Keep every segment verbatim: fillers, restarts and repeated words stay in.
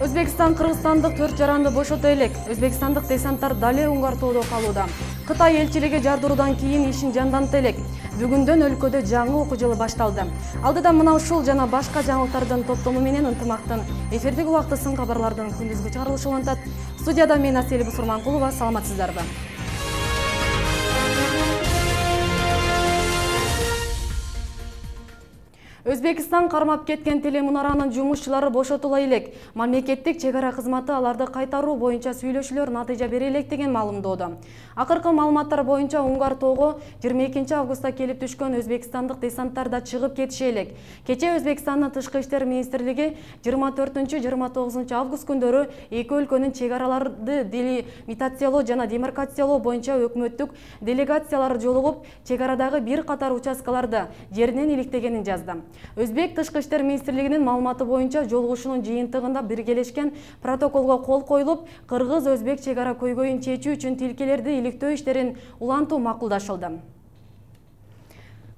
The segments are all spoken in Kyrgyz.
Өзбекстан Кыргызстандык төрт жаранды бошото элек. Өзбекстандык десанттар дале Уңгар тоодо калууда. Кытай элчилиги жардыруудан кийин ишин жандантты элек. Бүгүндөн өлкөдө жаңы окуу жылы башталды. Алдыда мына ушул жана башка жаңылыктардын топтому менен ынтымактын эфирдик убактысын кабарлардын күндүзгү чыгарылышы улантат. Студияда мен Асель Бусурманкулова, саламатсыздарбы? Өзбекстан кармап кеткен телемунаранын жумушчулары бошотула элек. Мамлекеттик чек ара кызматы аларды кайтаруу боюнча сүйлөшүүлөр натыйжа бере элек деген маалымдоодо. Акыркы маалыматтар боюнча Уңгар тоого жыйырма экинчи августта келип түшкөн өзбекстандык десанттар да чыгып кетиши элек. Кече Өзбекстандын тышкы иштер министрлиги жыйырма төртүнчү жыйырма тогузунчу август күндөрү эки өлкөнүн чек араларды делимитациялоо жана демаркациялоо боюнча өкмөттүк делегациялары жолугуп, чек арадагы бир катар участкаларды жеринен иликтегенин жазды. Өзбек тышкы иштер министрлигинин маалыматы боюнча жолугушуунун жыйынтыгында биргелешкен протоколго кол коюлуп, кыргыз-өзбек чек ара көйгөйүн чечүү үчүн тилкелерди иликтөө иштерин улантуу макулдашылды.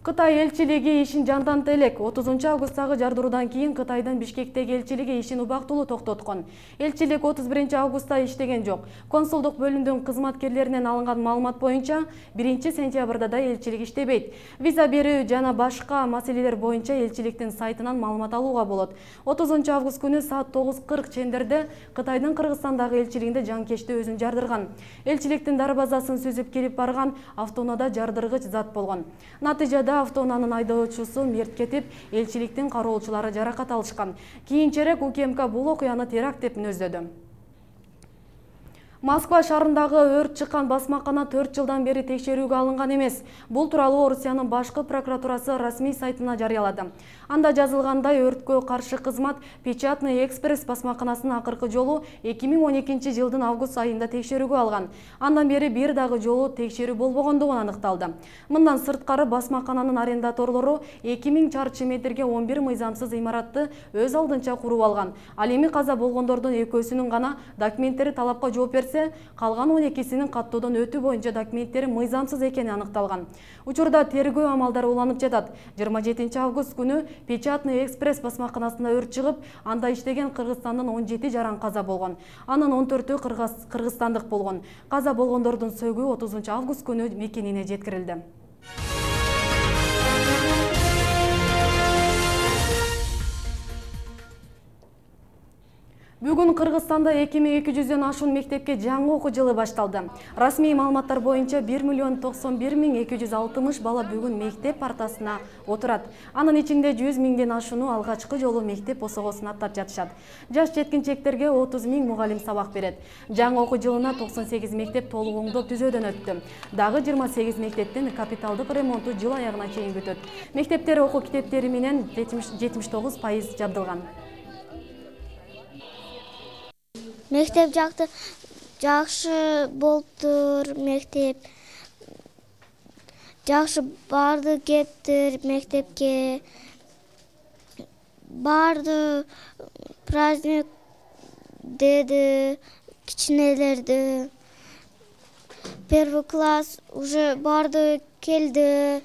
Кытай элчилиги ишин жандантты элек. отузунчу августтагы жардыруудан кийин Кытайдын Бишкектеги элчилиги ишин убактылуу токтоткон. Элчилик отуз биринчи августта иштеген жок. Консулдук бөлүмдүн кызматкерлеринен алынган маалымат боюнча биринчи сентябрда да элчилик иштебейт. Виза берүү жана башка маселелер боюнча элчиликтин сайтынан маалымат алууга болот. отузунчу август күнү саат тогуз кырк чендерде Кытайдын Кыргызстандагы элчилигинде жанкечти өзүн жардырган. Элчиликтин дарбазасын сүзүп кирип барган автоунаада жардыргыч зат болгон. Натыйжада автоунаанын айдоочусу мерт кетип, элчиликтин кароолчулары жаракат алышкан. Кийинчерээк УКМК бул окуяны теракт деп мүнөздөдү. Москва шаарындагы өрт чыккан басмакана төрт жылдан бери текшерүүгө алынган эмес. Бул тууралуу Орусиянын башкы прокуратурасы расмий сайтына жарыялады. Анда жазылгандай, өрткө каршы кызмат Печатный экспресс басмаканасын акыркы жолу эки миң он экинчи жылдын август айында текшерүүгө алган. Андан бери бир дагы жолу текшерүү болбогондугу аныкталды. Мындан сырткары басмакананын арендаторлору эки миң чарчы метрге он бир мыйзамсыз имаратты өз алдынча куруп алган. Ал эми каза болгондордун экөөсүнүн гана документтери талапка жооп берсе, калган он экисинин каттоодон өтүү боюнча документтери мыйзамсыз экени аныкталган. Учурда тергөө амалдары уланып жатат. жыйырма жетинчи август күнү Печатный экспресс басмаканасында өрт чыгып, анда иштеген Кыргызстандын он жети жаран каза болгон. Анын он төртү кыргызстандык болгон. Каза болгондордун сөгүү отузунчу август күнү мекенине жеткирилди. Бүгүн Кыргызстанда эки миң эки жүздөн ашуун мектепке жаңы окуу жылы башталды. Расмий маалыматтар боюнча бир миллион токсон бир миң эки жүз алтымыш бала бүгүн мектеп партасына отурат. Анын ичинде жүз миңден ашууну алгачкы жолу мектеп босогосун аттап жатышат. Жаш жеткинчектерге отуз миң мугалим сабак берет. Жаңы окуу жылына токсон сегиз мектеп толук оңдоп түзөөдөн өттү. Дагы жыйырма сегиз мектептин капиталдык ремонту жыл аягына чейин бүтөт. Мектептер окуу китептери менен жетимиш тогуз пайыз жабдылган. Мектеп жакты жакшы болуптур, мектеп жакшы барды кептир мектепке. Барды праздник деди кичинелерди. Первый класс уже барды келди.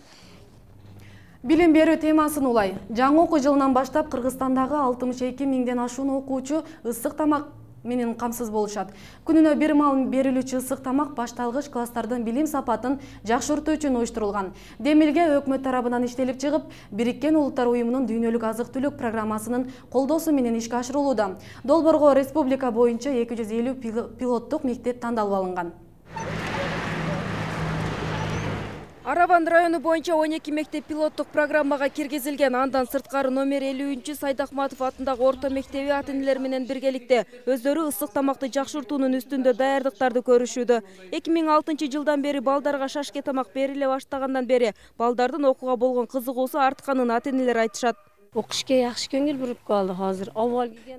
Билим берүү темасын улай. Жаңы окуу жылынан баштап Кыргызстандагы алтымыш эки миңден ашуун окуучу ысык тамак менен камсыз болушат. Күнүнө бир маал берилүүчү ысык тамак башталгыч класстардын билим сапатын жакшыртуу үчүн уюштурулган. Демилге өкмөт тарабынан иштелип чыгып, Бириккен Улуттар уюмунун дүйнөлүк азык-түлүк программасынын колдоосу менен ишке ашырылууда. Долбоорго республика боюнча эки жүз элүү пилоттук мектеп тандалып алынган. Араван району боюнча он эки мектеп пилоттук программага киргизилген. Андан сырткары номер элүүнчү Сайдахматов атындагы орто мектеби ата-энелер менен биргеликте өздөрү ысык тамакты жакшыртуунун үстүндө даярдыктарды көрүшүүдө. эки миң алтынчы жылдан бери балдарга шашке тамак бериле баштагандан бери балдардын окууга болгон кызыгуусу артканын ата-энелер айтышат. Окушка жакшы көңүл буруп калды азыр.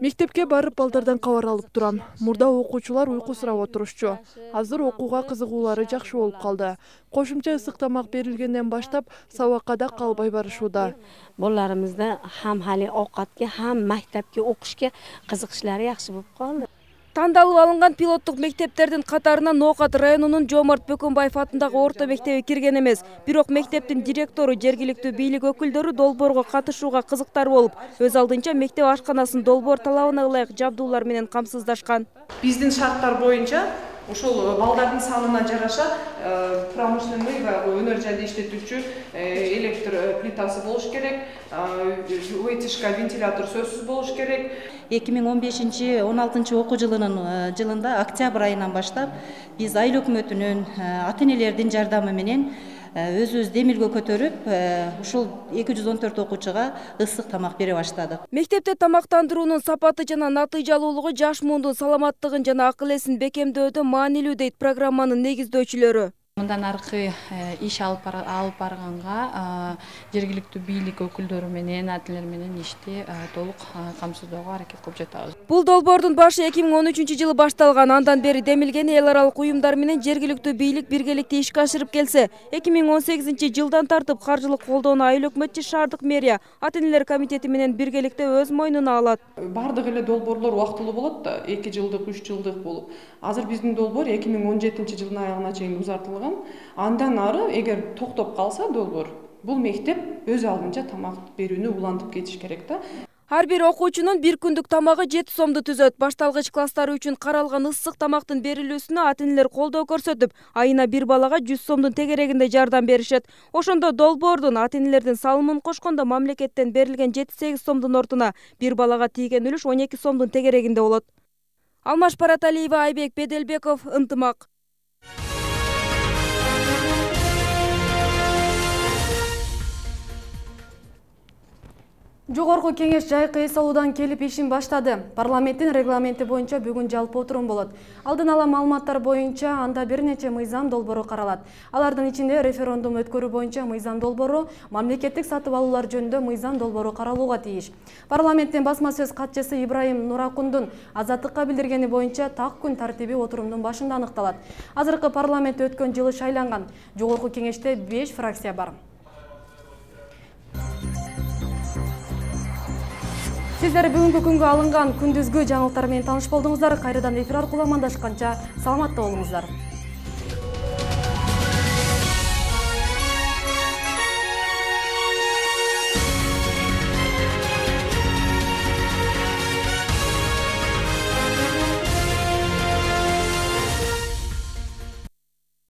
Мектепке барып балдардан кабар алып турам. Мурда окуучулар уйку сурап отурушчу. Азыр окууга кызыгуулары жакшы болуп калды. Кошумча ысык тамак берилгенден баштап сабакка да калбай барышууда. Балдарыбызда хам хали оокатка, хам мектепке окушка кызыкчылары жакшы болуп калды. Тандалып алынган пилоттук мектептердин катарына Ноокат районунун Жомарт Бөкөнбаев атындагы орто мектеби кирген эмес. Бирок мектептин директору, жергиликтүү бийлик өкүлдөрү долбоорго катышууга кызыктар болуп, өз алдынча мектеп ашканасын долбоор талабына ылайык жабдуулар менен камсыздашкан. Биздин шарттар боюнча ошол балдардын санына жараша промышленный өнөр жайда иштетүүчү электр плитасы болуш керек, вытяжка вентилятор сөзсүз болуш керек. эки миң он бешинчи он алтынчы окуу жылынын жылында октябрь айынан баштап биз айыл өкмөтүнүн, ата энелердин жардамы менен өзүбүз демилге көтөрүп, ушул эки жүз он төрт окуучуга ысык тамак бере баштадык. Мектепте тамактандыруунун сапаты жана натыйжалуулугу жаш муундун саламаттыгын жана акыл эсин бекемдөөдө маанилүү дейт программанын негиздөөчүлөрү. Мындан аркы иш алып барганга жергиликтүү бийлик өкүлдөрү менен, атилер менен ишти толук камсыздоого аракет кылып жатабыз. Бул долбоордун башы эки миң он үчүнчү жылы башталган. Андан бери демилгени эл аралык уюмдар менен жергиликтүү бийлик биргеликте ишке ашырып келсе, эки миң он сегизинчи жылдан тартып каржылык колдоону айыл өкмөтчү шаардык мэрия ата энелер комитети менен биргеликте өз мойнуна алат. Бардык эле долбоорлор убактылуу болот да, эки жылдык, үч жылдык болуп. Азыр биздин долбоор эки миң он жетинчи жылдын аягына чейин узартылган. Андан ары эгер токтоп калса долбоор, бул мектеп өз алдынча тамак берүүнү улантып кетиш керек да. Ар бир окуучунун бир күндүк тамагы жети сомду түзөт. Башталгыч класстары үчүн каралган ысык тамактын берилүүсүнө ата энелер колдоо көрсөтүп, айына бир балага жүз сомдун тегерегинде жардам беришет. Ошондо долбоордун ата энелердин салымын кошкондо мамлекеттен берилген жети сегиз сомдун ордуна бир балага тийген үлүш он эки сомдун тегерегинде болот. Алмаш Параталиева, Айбек Беделбеков, Ынтымак. Жогорку кеңеш жайкы эс алуудан келип ишин баштады. Парламенттин регламенти боюнча бүгүн жалпы отурум болот. Алдын ала маалыматтар боюнча анда бир нече мыйзам долбоору каралат. Алардын ичинде референдум өткөрүү боюнча мыйзам долбоору, мамлекеттик сатып алуулар жөнүндө мыйзам долбоору каралууга тийиш. Парламенттин басма сөз катчысы Ибрайым Нуракундун азаттыкка билдиргени боюнча так күн тартиби отурумдун башында аныкталат. Азыркы парламент өткөн жылы шайланган. Жогорку кеңеште беш фракция бар. Сиздер бүгүнкү күнгө алынган күндүзгү жаңылыктар менен тааныш болдуңуздар. Кайрадан эфир аркылуу амандашканча саламатта болуңуздар.